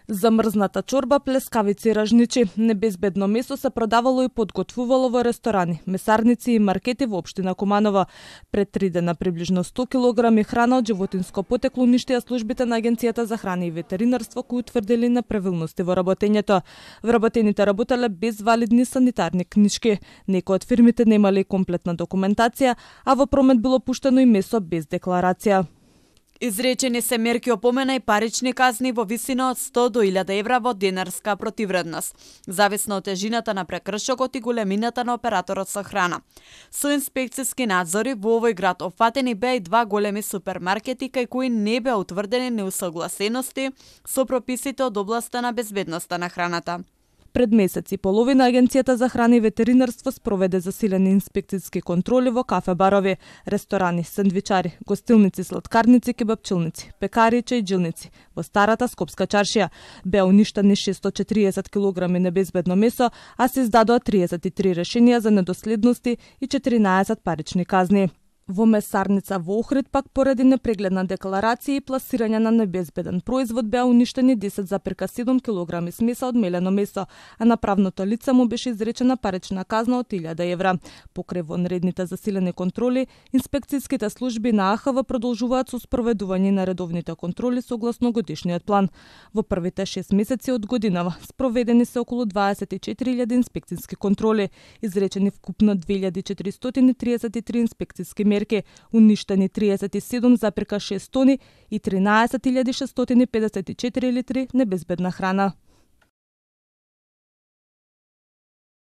Замрзната чорба, плескавици и ражничи. Небезбедно месо се продавало и подготвувало во ресторани, месарници и маркети во општина Куманово. Пред 3 дена приближно 100 килограми храна од животинско потекло уништија службите на Агенцијата за храна и ветеринарство, кои утврдили неправилности во работењето. Вработените работеле без валидни санитарни книшки. Некои од фирмите немале комплетна документација, а во промет било пуштено и месо без декларација. Изречени се мерки опомена и парични казни во висина од 100 до 1000 евра во денарска противредност, зависно од тежината на прекршокот и големината на операторот со храна. Со инспекциски надзори во овој град опфатени беа и 2 големи супермаркети кај кои не беа утврдени неусогласености со прописите од областа на безбедноста на храната. Пред месец и половина Агенцијата за храна и ветеринарство спроведе засилени инспекцијски контроли во кафе-барови, ресторани, сендвичари, гостилници, сладкарници, кебапчилници, пекари и чајджилници. Во старата Скопска чаршија беа уништени 640 килограми небезбедно месо, а се издадоа 33 решенија за недоследности и 14 парични казни. Во месарница во Охрид пак поради непрегледна декларација и пласирање на небезбеден производ беа уништени 10,7 килограми смеса од мелено месо, а на правното лице му беше изречена парична казна од 1000 евра. Покрај вонредните засилени контроли, инспекцијските служби на АХВ продолжуваат со спроведување на редовните контроли согласно годишниот план. Во првите 6 месеци од годинава спроведени се околу 24.000 инспекцијски контроли, изречени вкупно 2433 инспекцијски мерки, уништени 37,6 тони и 13.654 литри небезбедна храна.